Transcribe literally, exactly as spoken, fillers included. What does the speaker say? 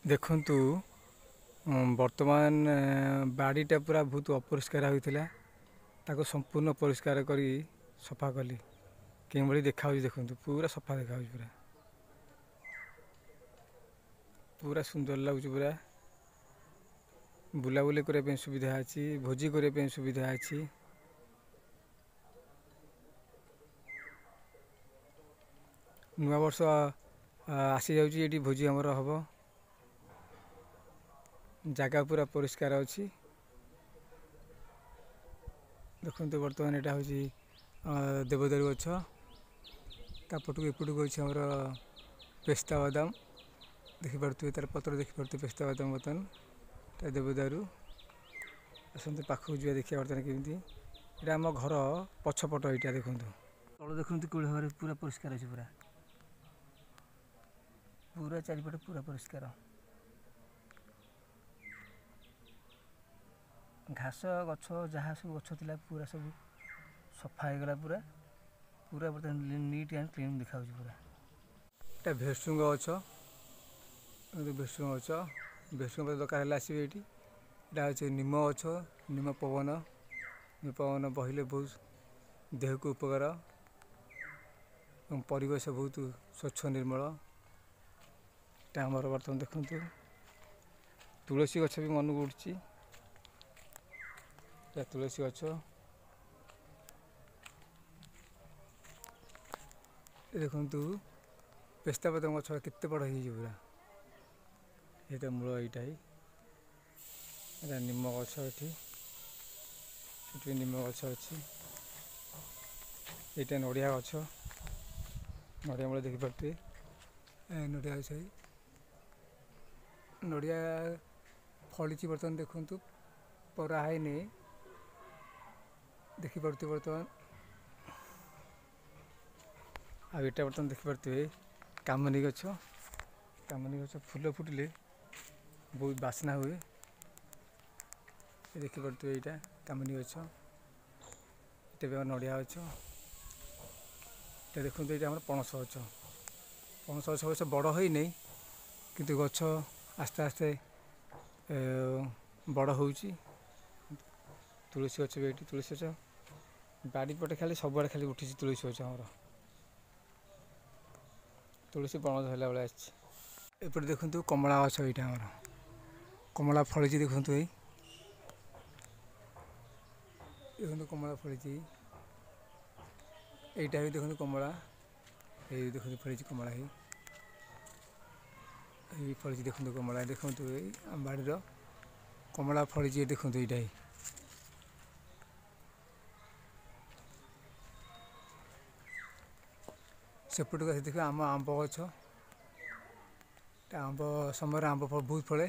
ଦେଖନ୍ତୁ, ବର୍ତ୍ତମାନ ବାଡ଼ିଟା ପୁରା ବହୁତ ଅପରିଷ୍କାର ହୋଇଥିଲା। ତାକୁ ସମ୍ପୂର୍ଣ୍ଣ ପରିଷ୍କାର କରି ସଫା କଲି। କେଉଁଭଳି ଦେଖାହେଉଛି ଦେଖନ୍ତୁ, ପୁରା ସଫା ଦେଖାହେଉଛି, ପୁରା ପୁରା ସୁନ୍ଦର ଲାଗୁଛି ପୁରା। ବୁଲାବୁଲି କରିବା ପାଇଁ ସୁବିଧା ଅଛି, ଭୋଜି କରିବା ପାଇଁ ସୁବିଧା ଅଛି। ନୂଆ ବର୍ଷ ଆସିଯାଉଛି, ଏଠି ଭୋଜି ଆମର ହେବ। ଜାଗା ପୁରା ପରିଷ୍କାର ଅଛି। ଦେଖନ୍ତୁ, ବର୍ତ୍ତମାନ ଏଇଟା ହେଉଛି ଦେବଦାରୁ ଗଛ। ତା ପଟକୁ ଏପଟକୁ ଅଛି ଆମର ପେସ୍ତା ବାଦାମ, ଦେଖିପାରୁଥିବେ, ତାର ପତ୍ର ଦେଖିପାରୁଥିବେ, ପେସ୍ତା ବାଦାମ। ବର୍ତ୍ତମାନ ତା ଦେବଦାରୁ। ଆସନ୍ତୁ, ପାଖକୁ ଯିବା, ଦେଖିବା ବର୍ତ୍ତମାନ କେମିତି। ଏଇଟା ଆମ ଘର ପଛପଟ ଏଇଟା। ଦେଖନ୍ତୁ, ତଳ ଦେଖନ୍ତୁ କେଉଁ ଭାବରେ ପୁରା ପରିଷ୍କାର ଅଛି, ପୁରା ପୁରା ଚାରିପଟେ ପୁରା ପରିଷ୍କାର। ଘାସ ଗଛ ଯାହା ସବୁ ଗଛ ଥିଲା, ପୁରା ସବୁ ସଫା ହେଇଗଲା। ପୁରା ପୁରା ବର୍ତ୍ତମାନ ନିଟ୍ ଆଣ୍ଡ କ୍ଲିନ୍ ଦେଖାଯାଉଛି ପୁରା। ଏଇଟା ଭେସୁଙ୍ଗ ଗଛ, ଭେସୁଙ୍ଗ ଗଛ। ଭେସୁଙ୍ଗ ପତ୍ର ଦରକାର ହେଲେ ଆସିବେ ଏଇଠି। ଏଇଟା ହେଉଛି ନିମ ଗଛ। ନିମ ପବନ, ନିମ ପବନ ବହିଲେ ବହୁତ ଦେହକୁ ଉପକାର ଏବଂ ପରିବେଶ ବହୁତ ସ୍ୱଚ୍ଛ ନିର୍ମଳ। ଏଇଟା ଆମର ବର୍ତ୍ତମାନ ଦେଖନ୍ତୁ ତୁଳସୀ ଗଛ ବି ମନକୁ ଉଠୁଛି। ଏଇଟା ତୁଳସୀ ଗଛ। ଦେଖନ୍ତୁ, ପେସ୍ତା ବାଦାମ ଗଛ କେତେ ବଡ଼ ହେଇଯାଇଛି ପୁରା। ଏଇଟା ମୂଳ, ଏଇଟା ହିଁ ଏଇଟା ନିମ ଗଛ। ଏଠି ଏଠି ବି ନିମ ଗଛ ଅଛି। ଏଇଟା ନଡ଼ିଆ ଗଛ, ନଡ଼ିଆ ମୂଳ ଦେଖିପାରୁଥିବେ। ନଡ଼ିଆ ଗଛ, ନଡ଼ିଆ ଫଳିଛି ବର୍ତ୍ତମାନ। ଦେଖନ୍ତୁ, ପରା ହେଇନି, ଦେଖିପାରୁଥିବେ ବର୍ତ୍ତମାନ। ଆଉ ଏଇଟା ବର୍ତ୍ତମାନ ଦେଖିପାରୁଥିବେ କାମିନୀ ଗଛ। କାମିନୀ ଗଛ ଫୁଲ ଫୁଟିଲେ ବହୁତ ବାସ୍ନା ହୁଏ। ଦେଖିପାରୁଥିବେ, ଏଇଟା କାମିନୀ ଗଛ। ଏଇଟା ବି ଆମର ନଡ଼ିଆ ଗଛ। ଏଇଟା ଦେଖନ୍ତୁ, ଏଇଟା ଆମର ପଣସ ଗଛ। ପଣସ ଗଛ ଅବଶ୍ୟ ବଡ଼ ହୋଇନି, କିନ୍ତୁ ଗଛ ଆସ୍ତେ ଆସ୍ତେ ବଡ଼ ହେଉଛି। ତୁଳସୀ ଗଛ ବି ଏଇଠି। ତୁଳସୀ ଗଛ ବାଡ଼ି ପଟେ ଖାଲି ସବୁଆଡ଼େ ଖାଲି ଉଠିଛି ତୁଳସୀ ଗଛ ଆମର। ତୁଳସୀ ବଣ ଧରିଲା ଭଳିଆ ଆସିଛି। ଏପଟେ ଦେଖନ୍ତୁ କମଳା ଗଛ। ଏଇଟା ଆମର କମଳା ଫଳିଛି। ଦେଖନ୍ତୁ, ଏଇ ଦେଖନ୍ତୁ କମଳା ଫଳିଛି। ଏଇଟା ବି ଦେଖନ୍ତୁ କମଳା। ଏଇ ଦେଖନ୍ତୁ ଫଳିଛି କମଳା। ଏଇ ଏଇ ଫଳିଛି, ଦେଖନ୍ତୁ କମଳା। ଦେଖନ୍ତୁ, ଏଇ ଆମ ବାଡ଼ିର କମଳା ଫଳିଛି। ଦେଖନ୍ତୁ ଏଇଟା। ଏଇ ସେପଟକୁ ଆସି ଦେଖିବା ଆମ ଆମ୍ବ ଗଛ। ଆମ୍ବ ସମୟରେ ଆମ୍ବ ବହୁତ ଫଳେ।